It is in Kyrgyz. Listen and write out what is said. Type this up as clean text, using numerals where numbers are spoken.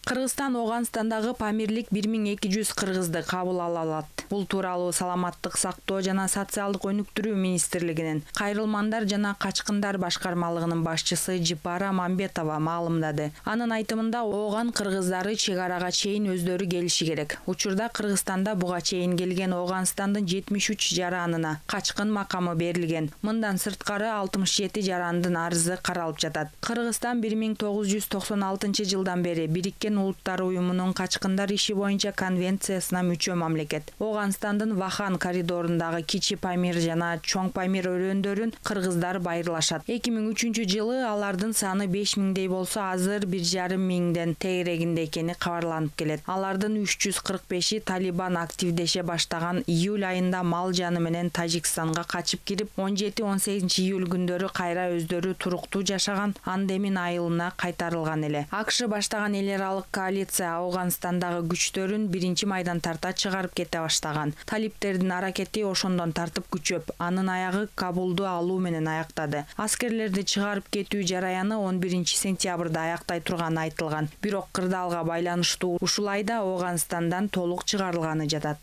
Кыргызстан Ооганстандагы Памирлик 1200 кыргызды кабыл ала алат. Бул тууралуу Саламаттык сактоо жана социалдык өнүктүрүү министрлигинин кайрылмандар жана качкындар башкармалыгынын башчысы Жипара Мамбетова маалымдады. Анын айтымында Ооган кыргыздары чек арага чейин өздөрү келиши керек. Учурда Кыргызстанда буга чейин келген Ооганстандын 73 жаранына качкын макамы берилген. Мындан сырткары 67 жарандын арызы каралып жатат. Кыргызстан 1996 жылдан бери Бириккен Улуттар уюмунун качкындар иши боюнча конвенциясына мүчө мамлекет. Ооганстандын Вахан коридорундагы Кичи Памир жана Чоң Памир өрөөндөрүн кыргыздар байырлашат. 2003 жылы алардын саны 5000дей болсо, азыр 1,5 миңден тегерегинде экени кабарланып келет. Алардын 345и Талибан активдеше баштаган июль айында мал жаны менен Тажикстанга качып кирип, 17-18 июль күндөрү кайра өздөрү туруктуу жашаган Андемин айылына кайтарылган эле. АКШ баштаган эл аралык коалиция Ооганстандагы күчтөрүн 1-майдан тарта чыгарып кете баштаган. Талиптердин аракети ошондон тартып күчөп, анын аягы Кабулду алуу менен аяктады. Аскерлерди чыгарып кетүү жараяны 11-сентябрда аяктай турганы айтылган. Бирок кырдаалга байланыштуу ушул айда Ооганстандан толук чыгарылганы жатат.